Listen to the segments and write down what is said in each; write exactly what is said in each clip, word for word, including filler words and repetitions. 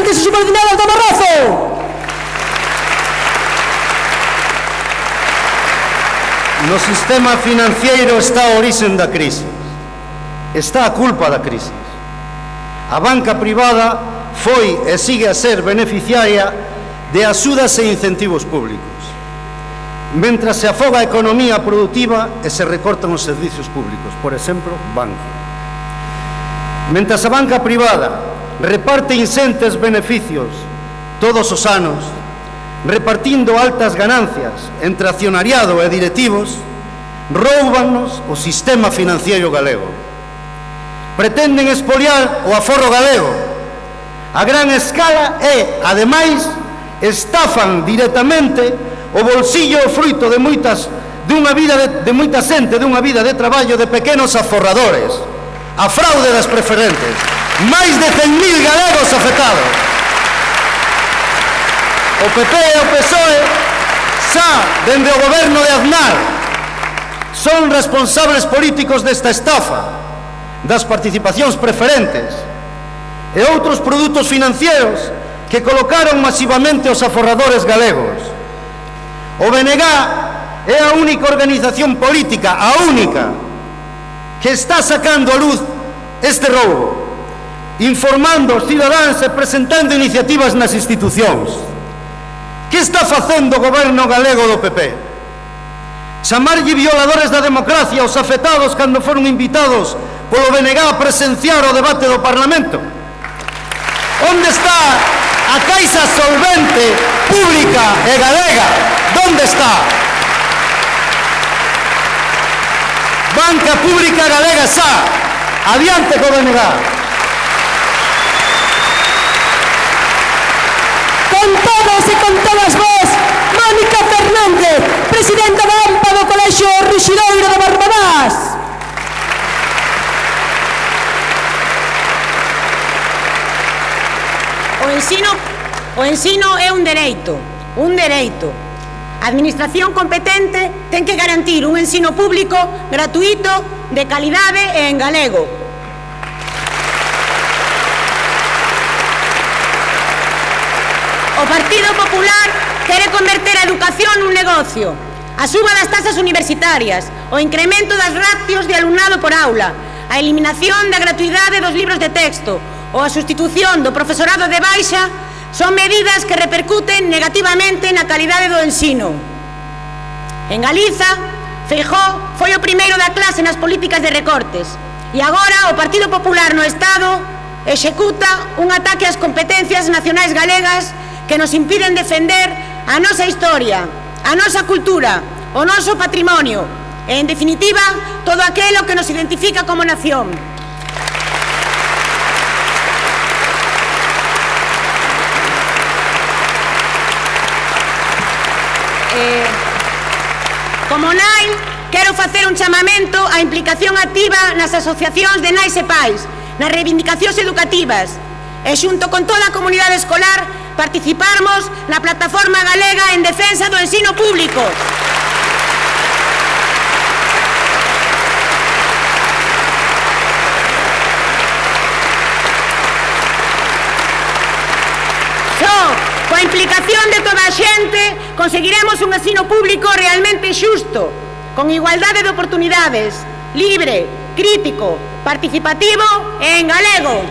e subordinadas do Barroso. No sistema financiero está a orixen da crise. Está a culpa da crise. A banca privada foi e sigue a ser beneficiaria de axudas e incentivos públicos, mentras se afoga a economía productiva e se recortan os servicios públicos, por exemplo, Bankia. Mentras a banca privada reparte incentes beneficios todos os anos, repartindo altas ganancias entre accionariado e directivos, roubanos o sistema financiero galego. Pretenden expoliar o aforro galego a gran escala e, ademais, estafan directamente o bolsillo o fruito de moitas de unha vida de, de moita xente, de unha vida de traballo de pequenos aforradores. A fraude das preferentes. Máis de cen mil galegos afectados. O P P e o P S O E xa, dende o goberno de Aznar, son responsables políticos desta estafa das participacións preferentes e outros produtos financieros que colocaron masivamente os aforradores galegos. O B N G é a única organización política, a única, que está sacando a luz este roubo, informando aos cidadáns e presentando iniciativas nas institucións. Que está facendo o goberno galego do P P? Chamarlle violadores da democracia aos afectados cando foron invitados polo B N G a presenciar o debate do Parlamento? Onde está a caixa solvente, pública e galega? Onde está? Banca pública galega xa, adiante co B N G. Con todos e con todas vos, Mónica Fernández, presidenta da A M P A do Colexio Ruxidoiro de Barbadás. O ensino, o ensino é un dereito, un dereito. A administración competente ten que garantir un ensino público gratuito, de calidade e en galego. O Partido Popular quere converter a educación nun negocio. A suba das tasas universitarias, o incremento das ratios de alumnado por aula, a eliminación da gratuidade dos libros de texto ou a sustitución do profesorado de baixa son medidas que repercuten negativamente na calidade do ensino. En Galiza, Feijóo foi o primeiro da clase nas políticas de recortes e agora o Partido Popular no Estado executa un ataque ás competencias nacionais galegas que nos impiden defender a nosa historia, a nosa cultura, o noso patrimonio e, en definitiva, todo aquilo que nos identifica como nación. Eh, como nai, quero facer un chamamento á implicación activa nas asociacións de nais e pais, nas reivindicacións educativas e xunto con toda a comunidade escolar participarmos na plataforma galega en defensa do ensino público. Só coa implicación de toda a xente conseguiremos un ensino público realmente xusto, con igualdade de oportunidades, libre, crítico, participativo e en galego.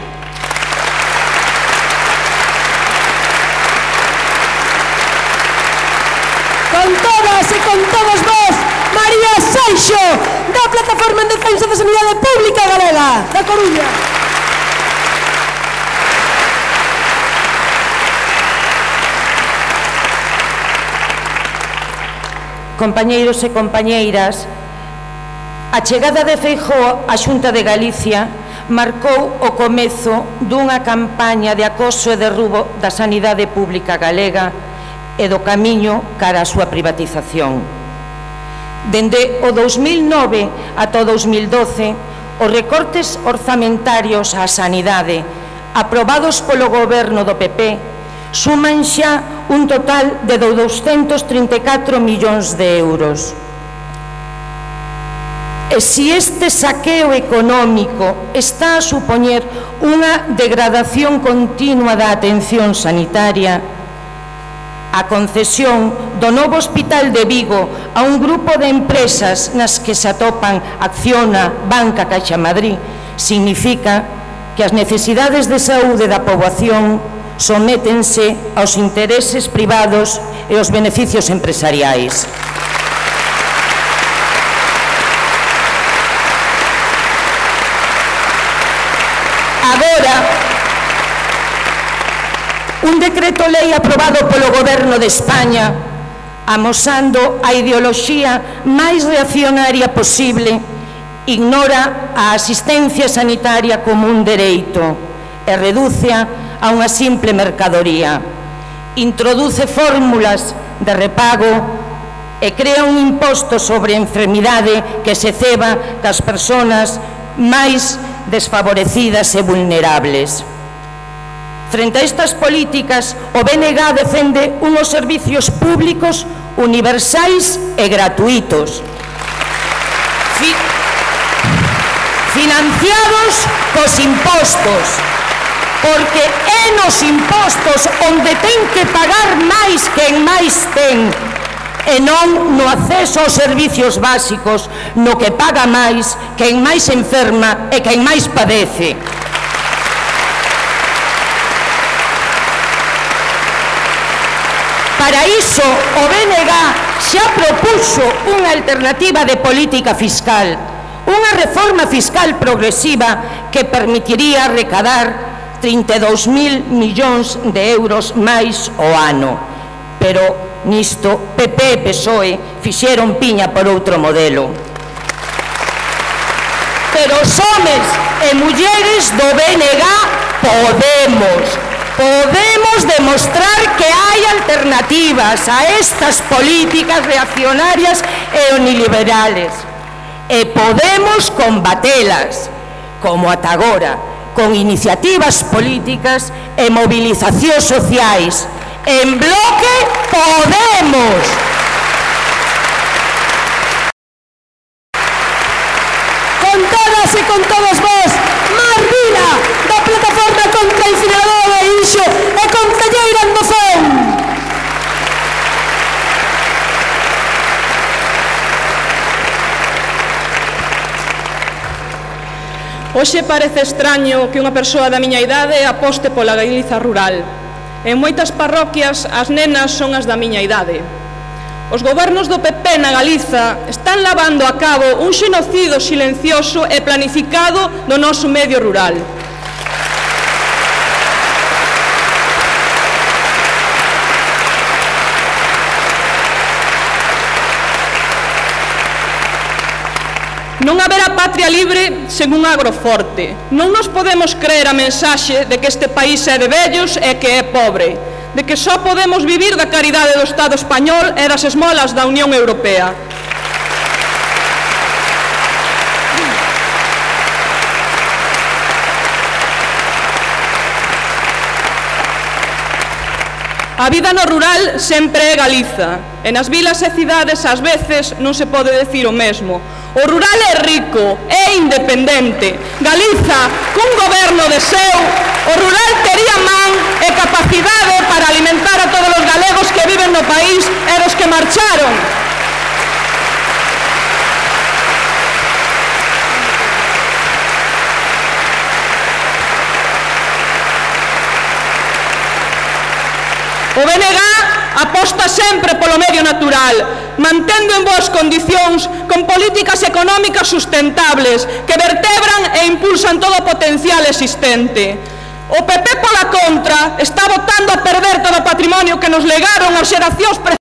Con todas e con todos vos, María Seixo, da Plataforma en Defensa da Sanidade Pública Galega, da Coruña. Compañeiros e compañeiras, a chegada de Feijóo á Xunta de Galicia marcou o comezo dunha campaña de acoso e derrubo da sanidade pública galega e do camiño cara á súa privatización. Dende o dous mil nove ata o dous mil doce, os recortes orzamentarios á sanidade aprobados polo goberno do P P suman xa un total de douscentos trinta e catro millóns de euros. E se este saqueo económico está a supoñer unha degradación continua da atención sanitaria, a concesión do novo hospital de Vigo a un grupo de empresas nas que se atopan Acciona, Banca, Caixa Madrid, significa que as necesidades de saúde da poboación sométense aos intereses privados e aos beneficios empresariais. Agora, un decreto lei aprobado polo Goberno de España, amosando a ideoloxía máis reaccionaria posible, ignora a asistencia sanitaria como un dereito e redúcea a unha simple mercadoría. Introduce fórmulas de repago e crea un imposto sobre a enfermidade que se ceba das persoas máis desfavorecidas e vulnerables. Frente a estas políticas, o B N G defende unos servicios públicos universais e gratuitos, fi financiados cos impostos, porque é nos impostos onde ten que pagar máis quen máis ten, e non no acceso aos servicios básicos, no que paga máis quen máis enferma e quen máis padece. Para iso, o B N G xa propuxo unha alternativa de política fiscal, unha reforma fiscal progresiva que permitiría recadar trinta e dous mil millóns de euros máis o ano. Pero nisto P P e P S O E fixeron piña por outro modelo. Pero os homes e mulleres do B N G podemos, podemos demostrar que hai alternativas a estas políticas reaccionarias e neoliberales. E podemos combatelas, como ata agora, con iniciativas políticas e movilizacións sociais. En bloque podemos. Con todas e con todos vos, Mar Vila, da Plataforma contra a Incineradora de Inxo e concelleira en Mozón. Hoxe parece extraño que unha persoa da miña idade aposte pola Galiza rural. En moitas parroquias as nenas son as da miña idade. Os gobernos do P P na Galiza están lavando a cabo un xenocido silencioso e planificado do noso medio rural. Non haberá patria libre sen un agroforte. Non nos podemos creer a mensaxe de que este país é de vellos e que é pobre, de que só podemos vivir da caridade do Estado español e das esmolas da Unión Europea. A vida no rural sempre é Galiza, e nas vilas e cidades ás veces non se pode decir o mesmo. O rural é rico, é independente. Galiza, cun goberno de seu, o rural tería man e capacidade para alimentar a todos os galegos que viven no país e dos que marcharon. O B N G aposta sempre polo medio natural, mantendo en boas condicións con políticas económicas sustentables que vertebran e impulsan todo o potencial existente. O P P, pola contra, está botando a perder todo o patrimonio que nos legaron as xeracións precedentes.